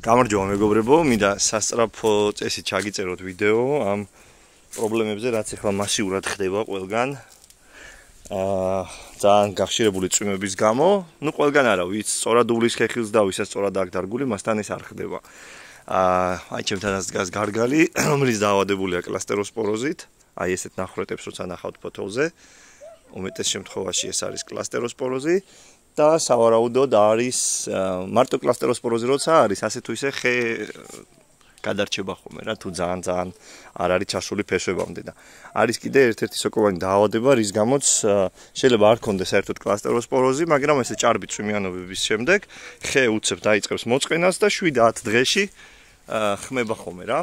გამარჯობა მეგობრებო, მინდა სასწრაფო წესით ჩაგიწეროთ ვიდეო ამ პრობლემებზე, რაც ახლა მასიურად ხდება ყველგან. ძალიან გახშირებული წვიმების გამო, ყველგან არა, ვიც სწორად უვლის ხეხილს და ვისაც სწორად აქ დარგული, მასთან ეს არ ხდება. აი ჩემთანაც დგას გარგალი, რომელიც დაავადებულია კლასტეროსპოროზით. აი ესეთ ნახრეტებს როცა ნახავთ ფოთოლზე, უმეტეს შემთხვევაში ეს არის კლასტეროსპოროზი. და სავარაუდოდ არის მარტო კლასტეროსპოროზი როცა არის ასე თუ ისე ხე გადარჩება ხოლმე რა თუ ძალიან არ არის ჩასული ფესვებამდე და არის კიდე ერთ-ერთი სოკოვანი დაავადება რის გამოც შეიძლება არ ქონდეს საერთოდ კლასტეროსპოროზი მაგრამ ესე ჭარბი წვიმიანობების შემდეგ ხე უცებ დაიწყებს მოწყენას და 7-10 დღეში ხმება ხოლმე რა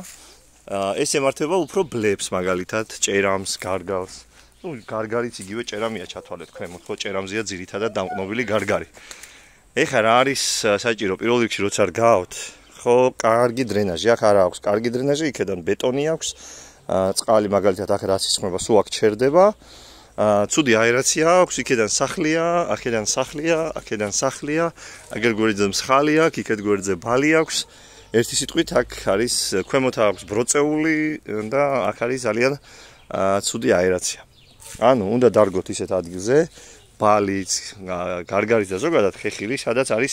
ეს ემართება უფრო ბლებს მაგალითად ჭერამს გარგალს გარგარიც იგივე ჭერამია ჩათვალეთ ქვემოთ, ხო ჭერამზეა ძირითადად დამყნობილი გარგარი. ეხლა რა არის საჭირო პირველ რიგში როცა რგავთ, ხო, კარგი დრენაჟი, აქ არა აქვს კარგი დრენაჟი, იქედან ბეტონი აქვს, წყალი მაგალითად აქ რაც ისხმება, სულ აქ ჩერდება. ცუდი აერაცია აქვს, იქედან სახლია, აქედან სახლია, აქედან სახლია, აგერ გვერდზე მსხალია, იქეთ გვერდზე ბალი აქვს. ერთი სიტყვით აქ არის ქვემოთ აქვს ბროწეული და აქ არის ძალიან ცუდი აერაცია. ანუ უნდა დარგოთ ისეთ ადგილზე, ბალიც, გარგარიც და ზოგადად ხეხილი, სადაც არის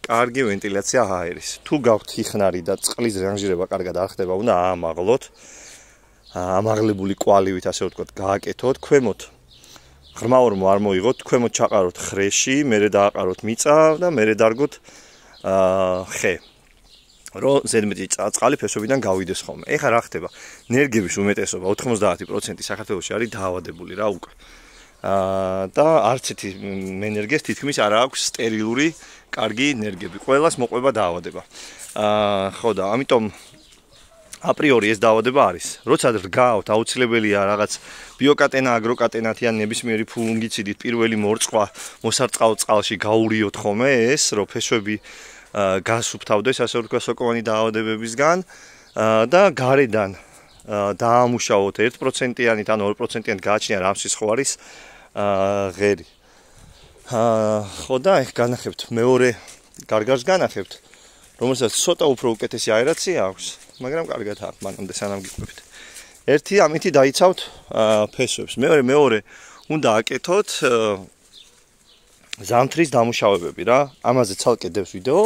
კარგი ვენტილაცია აერის. თუ გაქვთ ხიხნარი და წყლის რანჟირება კარგად არ ხდება, უნდა აამაღლოთ. ამაღლებული კვალივით, ასე ვთქვათ, გააკეთოთ ქვემოთ. ღრმაორმო არ მოიღოთ, ქვემოთ ჩაყაროთ ხრეში, მერე დააყაროთ მიწა და მერე დარგოთ ხე. რომ ზედმეტი წყალი ფესვებიდან გავიდეს ხოლმე. ეხლა რა ხდება? ნერგების უმეტესობა 90% საქართველოში არის დაავადებული რა უკვე. და არც ერთი მენერგეს თითქმის არ აქვს სტერილური კარგი ნერგები. ყველას მოყვება დაავადება. ხო და ამიტომ აპრიორი ეს დაავადება არის. როცა რგავთ, აუცილებელია რაღაც ბიოკატენა, აგროკატენათი ან ნებისმიერი ფუნგიციდით პირველი მორწყვა მოსარწყავ წყალში გაურიოთ ხოლმე ეს, რომ ფესვები გასუფთავდეს ასე ვთქვათ სოკოვანი დაავადებებისგან და გარედან დაამუშავოთ 1%-იანით ან 2%-იანით გააჩნია რამსის ხო არის ღერი. ხო და ეხ განახებთ მეორე გარგარს განახებთ, რომელსაც ცოტა უფრო უკეთესი აერაცია აქვს, მაგრამ კარგად აქვს მანამდე სანამ გიყვებით. ერთი ამითი დაიცავთ ფესვებს. მეორე უნდა აკეთოთ ზამთრის დამუშავებები რა. ამაზე ცალკე დევს ვიდეო.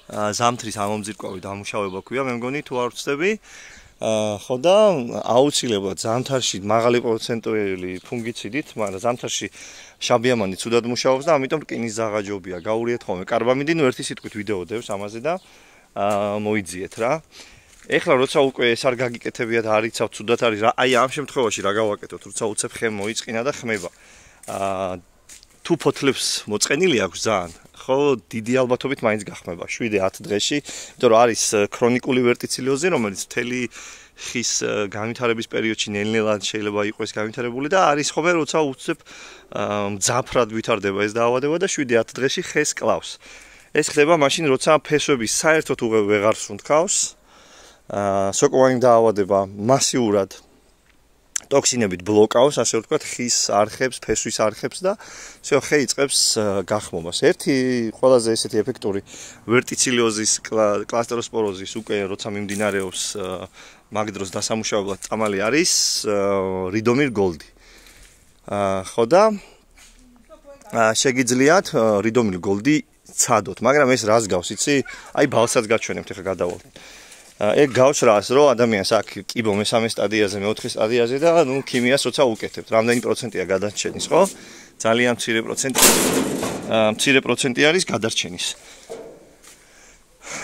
ზამთრის ამომძირკვავი დამუშავება ქვია, მე მგონი თუ არ ვწდები. ხო და აუცილებლად ზამთარში მაღალი პროცენტული ფუნგიციდით, მაგრამ ზამთარში შაბიამანი ცუდად მუშაობს და ამიტომ რკინის ზაღაჯობია. გაურიეთ ხოლმე კარბამიდი, ნუ ერთი სიტყვით ვიდეო დევს ამაზე და მოიძიეთ რა. ეხლა როცა უკვე ეს არ გაგიკეთებიათ, არ იცავთ ცუდად არის რა. აი ამ შემთხვევაში რა გავაკეთოთ, როცა უცებ ხე მოიწყინა და ხმება. თუ ფოთლებს მოწყენილი აქვს ძალიან, ხო, დიდი ალბათობით მაინც გახმება 7-10 დღეში, იმიტომ რომ არის ქრონიკული ვერტიცლიოზი, რომელიც მთელი ხის განვითარების პერიოდში ნელ-ნელად შეიძლება იყოს განვითარებული და არის ხოლმე როცა უცებ მძაფრად ვითარდება ეს დაავადება და 7-10 დღეში ხეს კლავს. ეს ხდება მაშინ, როცა ფესვები საერთოდ ვეღარ სუნთქავს, სოკოვანი დაავადება მასიურად ტოქსინებით ბლოკავს, ასე ვთქვათ, ხის არხებს, ფესვის არხებს და всё ხე იწყებს გახმობას. ერთი ყველაზე ესეთი ეფექტური ვერტიცლიოზის კლასტეროსპოროზის უკვე როცა მიმდინარეობს მაგ დროს დასამუშავებლად წამალი არის რიდომირ გოლდი. ხო და შეგიძლიათ რიდომირ გოლდი ცადოთ, მაგრამ ეს რას გავს, იცი? აი ბალსაც გაჩვენებთ, ეხლა გადავალთ. ეგ გავს რას, რომ ადამიანს აქ კიბო მესამე სტადიაზე, მეოთხე სტადიაზე და ნუ ქიმიას როცა უკეთებთ, რამდენი პროცენტია გადარჩენის, ხო? ძალიან მცირე პროცენტი არის გადარჩენის.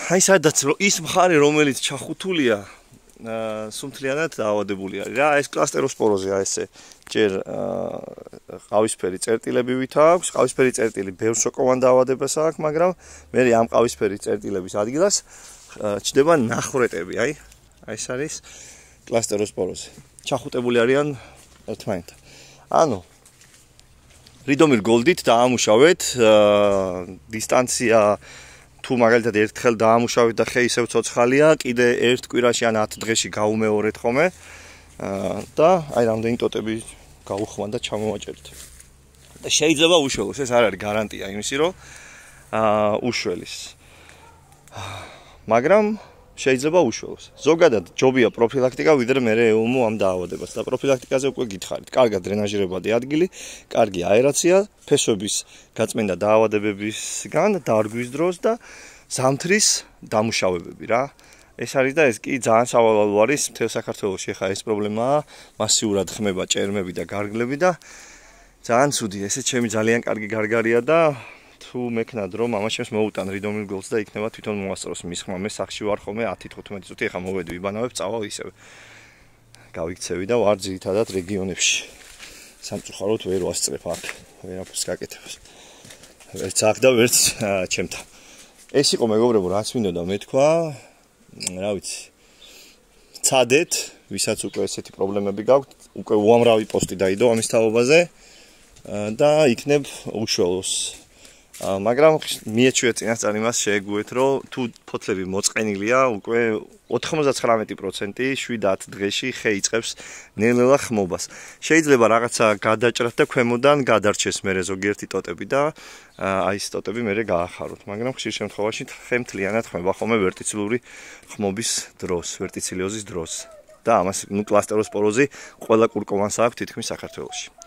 აი სადაც ის მხარე, რომელიც ჩახუთულია, სუმთლიანად დაავადებული არის რა, ეს კლასტეროსპოროზია ესე. ჯერ ყავისფერი წერტილები ვით აქვს, ყავისფერი წერტილი ბევრ სოკოვან დაავადებას აქვს, მაგრამ მე ამ ყავისფერი წერტილების ადგილას ჩდება ნახრეტები, აი ეს არის კლასტეროსპოროზი. ჩახუტებული არიან ერთმანეთთან. ანუ რიდომირ გოლდით დაამუშავეთ დისტანცია თუ მაგალითად ერთხელ დაამუშავეთ და ხე ისევ ცოცხალია, კიდე ერთ კვირაში ან 10 დღეში გაუმეორეთ ხოლმე და აი რამდენი ტოტები გაუხმან და ჩამოვაჭერეთ. და შეიძლება უშველოს, ეს არ არის გარანტია იმისი, რომ უშველის. მაგრამ შეიძლება უშველოს. ზოგადად ჯობია პროფილაქტიკა, ვიდრე მე ეულმო ამ დაავადებას და პროფილაქტიკაზე უკვე გითხარით. კარგად დრენაჟირებადი ადგილი, კარგი აერაცია, ფესვების გაწმენდა დაავადებებისგან დარგვის დროს და ზამთრის დამუშავებები რა. ეს არის და ეს კი ძალიან სავალალო არის მთელ საქართველოში. ახლა ეს პრობლემაა, მასიურად ხმება ჭერმები და გარგლები და ძალიან ცუდი. ესე ჩემი ძალიან კარგი გარგარია და თუ მექნად რომ ამაშემს მოუტან რიდომილ გოლს და იქნება თვითონ მოასწროს მის ხმა. მე სახში ვარ ხოლმე 10-15 წუთი, ახლა მოვედი ვიბანავებ, წავალ ისევ. გავიქცევი და ვარ ძირითადად რეგიონებში. სამწუხაროდ ვერ ვასწრებ აქ, ვერაფერს გაკეთებას. ვერც აქ და ვერც ჩემთან. ეს იყო მეგობრებო, რაც მინდოდა მეთქვა. რა ვიცი. ცადეთ, ვისაც უკვე ესეთი პრობლემები გაქვთ, უკვე უამრავი პოსტი დაიდო ამის თაობაზე და იქნებ უშველოს. მაგრამ მიეჩვია წინასწარ იმას შეეგუეთ, რომ თუ ფოთლები მოწყენილია, უკვე 99% 7 დღეში ხე იწყებს ნელ-ნელა ხმობას. შეიძლება რაღაცა გადაჭრათ და ქვემოდან გადარჩეს მერე ზოგიერთი ტოტები და აი ეს ტოტები მერე გაახაროთ, მაგრამ ხშირ შემთხვევაში ხე მთლიანად ხმება ხოლმე ვერტიცილური ხმობის დროს, ვერტიცილიოზის დროს. და ამას კლასტეროსპოროზი ყველა კურკოვანს აქვს თითქმის საქართველოში.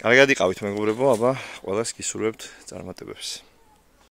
კარგად იყავით მეგობრებო, აბა ყველას გისურვებთ წარმატებებს.